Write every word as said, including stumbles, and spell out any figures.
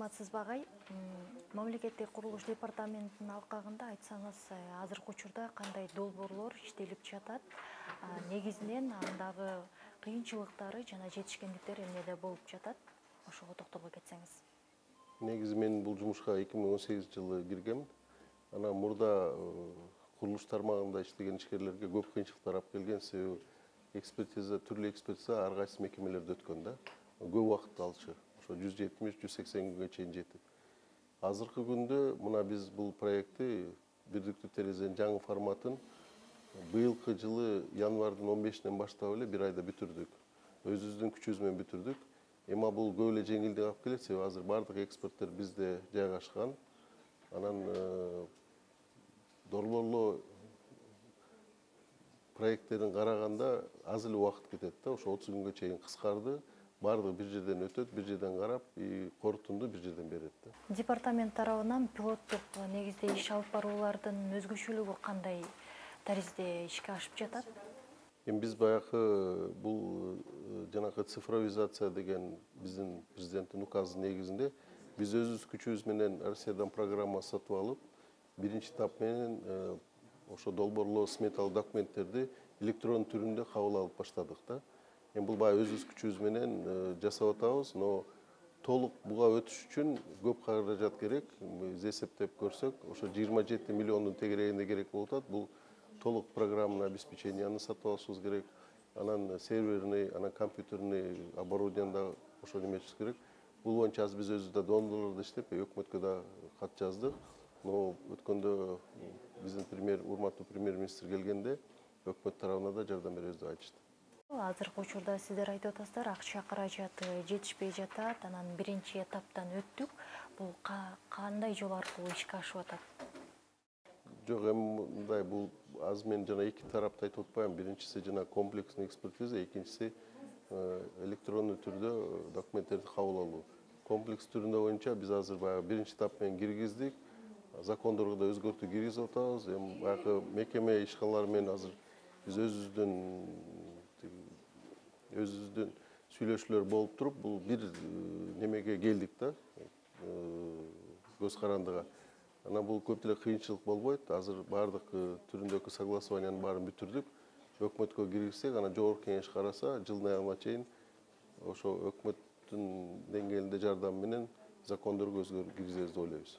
саламатсызбы агай? Мамлекеттик курулуш департаментинин алкагында айтсаңыз, азыркы учурда кандай долбоорлор иштелип жатат? Негизинен андагы кыйынчылыктары жана жетишкендиктери эмнеде болуп жатат? Ошого токтоло кетсеңиз. Негизи мен бул жумушка эки миң он сегизинчи жылы киргем. Анан мурда курулуш тармагында иштеген ишкерлерге көп кыйынчылыктар алып келген. Себеби экспертиза, түрлүү экспертиза ар кайсы мекемелерде өткөн да. Көп убакыт алышы. Ошо жүз жетимиш жүз сексен күнгө чейин жетип. Азыркы күндө мына биз бул проектти бирдиктүү терезенин жаңы форматын быйылкы жылы январдын он бешинен баштап эле бир айда бүтүрдүк. Өзүбүздүн күчүбүз менен бүтүрдүк. Эми бул көп эле жеңилдик алып келет, себеби азыр бардык эксперттер бизде жайгашкан. Анан долбоорлоо проекттерин караганда аз эле убакыт кетет да, ошо отуз күнгө чейин кыскарды. Бардыгы бир жерден өтөт, бир жерден карап, корутунду бир жерден берет да. Департамент тарабынан пилоттук негизде иш алып баруулардын өзгөчөлүгү кандай таризде ишке ашып жатат? Эми биз баягы бул жанагы цифровизация деген биздин президенттин указы негизинде биз өзүбүз күчүбүз менен Россиядан программа сатып алып, биринчи этап менен ошо долбоорлоо сметалык документтерди электрон түрүндө кабыл алып баштадык да. Эми бул баягы өзүбүз күчүбүз менен жасап атабыз, но толук буга өтүш үчүн көп каражат керек. Биз эсептеп көрсөк, ошо жыйырма жети миллиондун тегерегинде керек болуп атат. Бул толук программный обеспеченияны сатып алышыбыз керек. Анан серверный, анан компьютерный оборудованияны да ошо неметишибиз керек. Бул боюнча азыр биз өзүбүз да донорлордо иштеп, өкмөткө да кат жаздык. Но өткөндө биздин премьер, урматтуу премьер-министр келгенде өкмөт тарабына да жардам беребиз деп айтышты. Азыркы учурда сиздер айтып атасыздар, акча каражаты жетишпей жатат, анан биринчи этаптан өттүк. Бул кандай жол аркылуу ишке ашып атат? Жок, эми мындай, бул азыр мен жана эки тарапты айтып атпайм. Биринчиси жана комплексный экспертиза, экинчиси электрондуу түрдө документтерди кабыл алуу. Комплекс түрүндө боюнча биз азыр баягы биринчи этап менен киргиздик. Закондорго да өзгөртүү киргизип атабыз. Эми баягы мекеме ишканалары менен азыр биз өзүбүздүн өзүбүздүн сүйлөшүүлөр болуп туруп, бул бир немеге келдик да, көз карандыга. Анан бул көп деле кыйынчылык болбойт. Азыр бардык түрүндөгү согласованияны баарын бүтүрдүк. Өкмөткө киргизсек, анан жогорку кеңеш караса, жылдын аягына чейин ошо өкмөттүн деңгээлинде жардам менен закондорго өзгөртүү киргизебиз деп ойлойбуз.